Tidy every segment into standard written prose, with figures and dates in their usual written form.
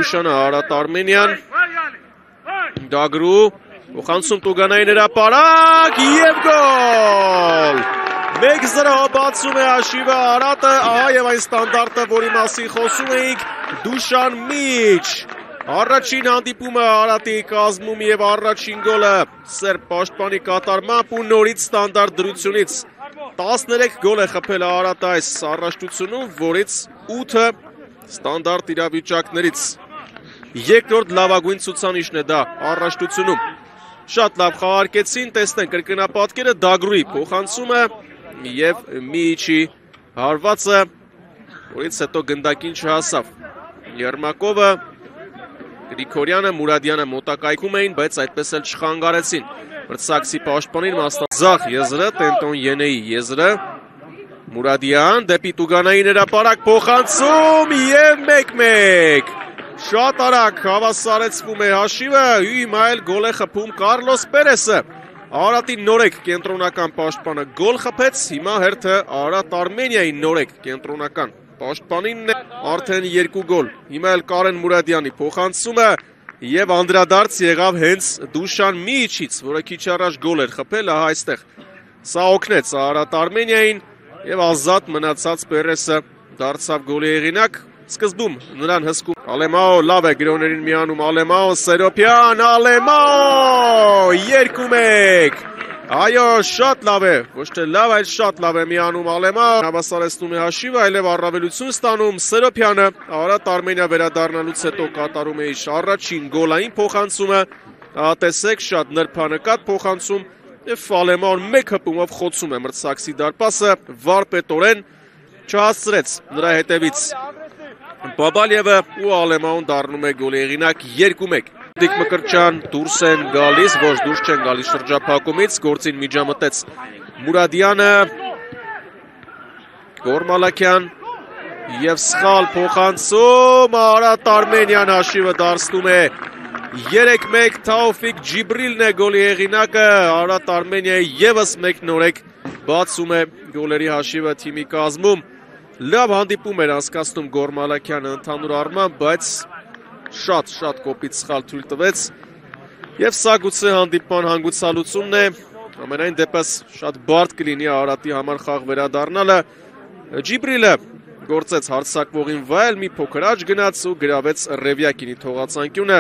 Դուշանը Արարատ Արմենյան Դագրու Փոխանցում Տուգանային հրապարակ եւ գոլ 1-0 բացում է հաշիվը Արարատը եւ այն ստանդարտը, որի մասին խոսում էինք Դուշան Միչ Առաջին հանդիպումը Արարատի կազմում եւ առաջին գոլը Սերբ պաշտպանի կատարմամբ ու նորից ստանդարտ դրությունից 13 գոլ է խփել Արարատը այս առաջնությունում, որից 8-ը ստանդարտ իրավիճակներից Երկրորդ լավագույն ցուցանիշն է դա առաջնությունում Շատ լավ խաղարկեցին, տեսնենք կրկնապատկերը Դագրուի փոխանցումը եւ Միչի հարվածը, որից հետո գնդակին չհասավ Երմակովը Գրիգորյանը, Մուրադյանը մոտակայքում էին, բայց այդպես էլ չխանգարեցին Մրցակցի պաշտպանին Մաստազախ եզրը, Տենտոն Ենեի եզրը Մուրադյան, դեպի Տուգանային հրապարակ փոխանցում եւ 1-1 Շատ արագ հավասարեցվում է հաշիվը, հիմա էլ գոլ է խփում Կարլոս Պերեսը Արարատի նորեկ կենտրոնական պաշտպանը գոլ խփեց, հիմա հերթը Արարատ Արմենիայի նորեկ կենտրոնական Պաշտպանինն է արդեն 2 գոլ Հիմա էլ Կարեն Մուրադյանի փոխանցումը Եվ անդրադարձ եղավ հենց Դուշան Միչից, որը քիչ առաջ գոլ էր խփել, ահա այստեղ Սա օգնեց Արարատ Արմենիային Եվ ազատ մնացած Պերեսը դարձավ գոլի հեղինակ Սկզբում նրան հսկում Ալեմաո լավ է գրոներին միանում Ալեմաո Սերոպյան Ալեմաո 2-1 Այո, շատ լավ է, ոչ թե լավ, այլ շատ լավ է միանում Ալեմաո Հավասարեցնում է հաշիվը, այլև առավելություն ստանում Սերոպյանը Արարատ Արմենիա վերադառնալուց հետո կատարում է իր առաջին գոլային փոխանցումը Տեսեք, շատ նրբանկատ փոխանցում Եվ Ալեմաոն մեկ հպումով խոցում է մրցակցի դարպասը վարպետորեն չհասցրեց նրա հետևից Բաբալիևը ու Ալեմաոն դառնում է գոլի հեղինակ 2-1 Դիկ Մկրտչյան դուրս են գալիս, ոչ դուրս չեն գալիս շրջափակումից, գործին միջամտեց Մուրադյանը, Գորմալակյան և սխալ փոխանցում, Արարատ Արմենյան հաշիվը դարձնում է 3-1 Թաուֆիկ Ջիբրիլն է գոլի հեղինակը, Արարատ Արմենիայի ևս մեկ նորեկ բացում է գոլերի հաշիվը թիմի կազմում, լավ հանդիպում էր անցկացնում Գորմալակյանը ընդհանուր առմամբ, բայց շատ կոպիտ սխալ թույլ տվեց եւ սա գուցե հանդիպման հանգուցալուծումն է ամենայն դեպս շատ բարդ կլինի Արարատի համար խաղ վերադառնալը Ջիբրիլը գործեց հարձակվողին վայել մի փոքր աճ գնաց ու գրավեց Ռևյակինի թողածանկյունը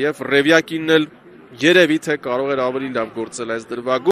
եւ Ռևյակինն էլ երևի թե կարող էր ավելի լավ գործել այս դրվագում